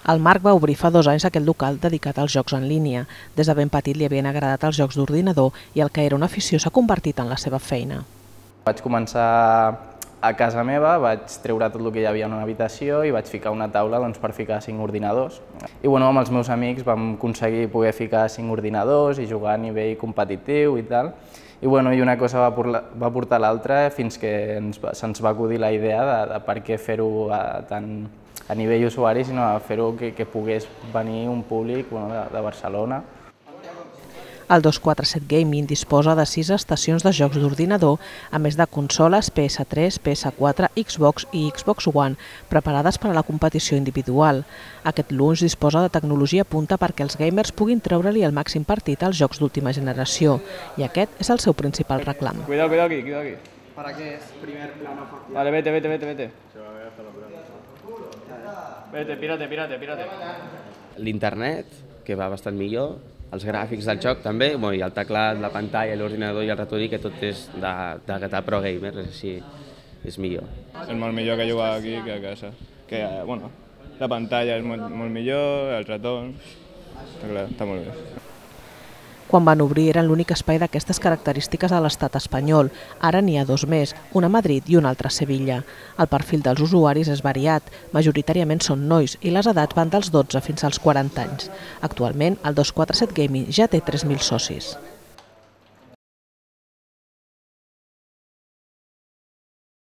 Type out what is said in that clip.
El Marc va obrir fa 2 anys aquest local dedicat als jocs en línia. Des de ben petit li havien agradat els jocs d'ordinador i el que era una afició s'ha convertit en la seva feina. Vaig començar a casa meva, vaig treure tot el que hi havia en una habitació i vaig ficar una taula per ficar 5 ordinadors. I amb els meus amics vam aconseguir poder ficar 5 ordinadors i jugar a nivell competitiu i tal. I una cosa va portar l'altra fins que se'ns va acudir la idea de per què fer-ho tant a nivell usuari, sinó fer-ho que pogués venir un públic de Barcelona. El 247 Gaming disposa de 6 estacions de jocs d'ordinador, a més de consoles PS3, PS4, Xbox i Xbox One, preparades per a la competició individual. Aquest launch disposa de tecnologia punta perquè els gamers puguin treure-li el màxim partit als jocs d'última generació, i aquest és el seu principal reclam. Cuidado aquí, cuidado aquí. ¿Para qué es primer plano facial? Vale, vete. Vete, pírate. L'internet, que va bastant millor, els gràfics del joc també, i el teclat, la pantalla, l'ordinador i el ratolí, que tot és de pro gamer, així és millor. És molt millor que jugar aquí que a casa. La pantalla és molt millor, el ratón, està molt bé. Quan van obrir eren l'únic espai d'aquestes característiques a l'estat espanyol. Ara n'hi ha 2 més, un a Madrid i un altre a Sevilla. El perfil dels usuaris és variat, majoritàriament són nois i les edats van dels 12 fins als 40 anys. Actualment, el 247 Gaming ja té 3.000 socis.